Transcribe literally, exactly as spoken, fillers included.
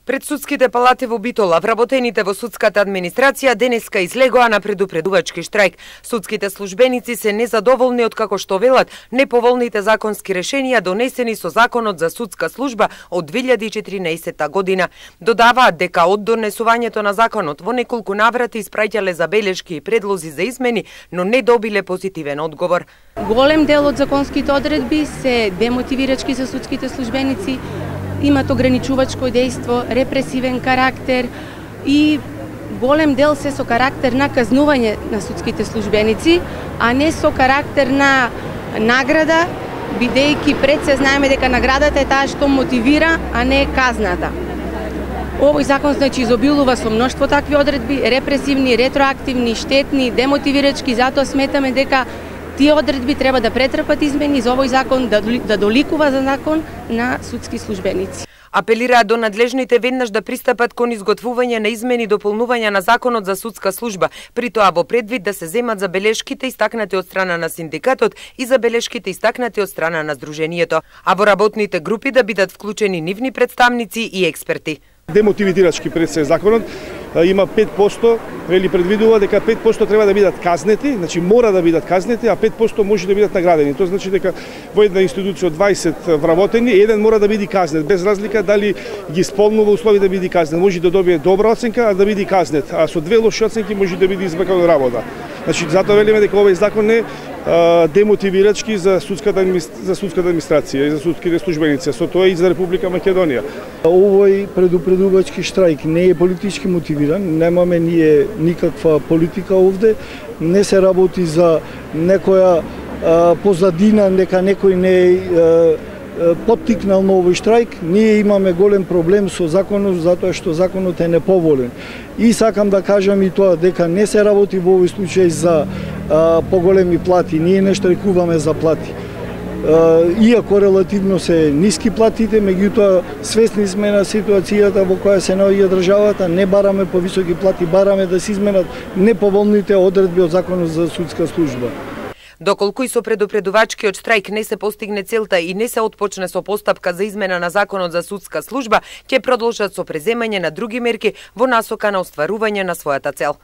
Пред судските палати во Битола, вработените во судската администрација денеска излегоа на предупредувачки штрајк. Судските службеници се незадоволни од како што велат неповолните законски решенија донесени со Законот за судска служба од две илјади и четиринаесетта година. Додаваат дека од донесувањето на законот во неколку наврати испраќале забелешки и предлози за измени, но не добиле позитивен одговор. Голем дел од законските одредби се демотивирачки за судските службеници, имат ограничувачко дејство, репресивен карактер и голем дел се со карактер на казнување на судските службеници, а не со карактер на награда, бидејќи пред се знаеме дека наградата е таа што мотивира, а не казната. Овој закон значи изобилува со мноштво такви одредби, репресивни, ретроактивни, штетни, демотивирачки, затоа сметаме дека тие одредби треба да претрпат измени за овој закон, да, да доликува за закон на судски службеници. Апелираат до надлежните веднаш да пристапат кон изготвување на измени и дополнување на Законот за судска служба, при тоа во предвид да се земат забелешките истакнати од страна на синдикатот и забелешките истакнати од страна на Сдруженијето, а во работните групи да бидат вклучени нивни представници и експерти. Демотивирачки пред се законот има пет посто, вели предвидува дека пет посто треба да бидат казнети, значи мора да бидат казнети, а пет посто може да бидат наградени. Тоа значи дека во една институција од дваесет вработени, еден мора да биде казнет, без разлика дали ги исполнува услови да биде казнет. Може да добие добра оценка, а да биде казнет, а со две лоши оценки може да биде избркан од работа. Значи затоа велиме дека овој закон е демотивирачки за судската за судската администрација и за судските службеници, со тоа и за Република Македонија. Овој предупредувачки штрајк не е политички мотивиран, немаме ние никаква политика овде, не се работи за некоја а, позадина, нека некој не е поттикнал на овој штрајк. Ние имаме голем проблем со законот, затоа што законот е неповолен. И сакам да кажам и тоа дека не се работи во овој случај за а, поголеми плати. Ние не штрајкуваме за плати. А, иако релативно се ниски платите, меѓутоа свесни сме на ситуацијата во која се наоѓа државата, не бараме повисоки плати, бараме да се изменат неповолните одредби од Законот за судска служба. Доколку и со предупредувачкиот штрајк не се постигне целта и не се отпочне со постапка за измена на Законот за судска служба, ќе продолжат со преземање на други мерки во насока на остварување на својата цел.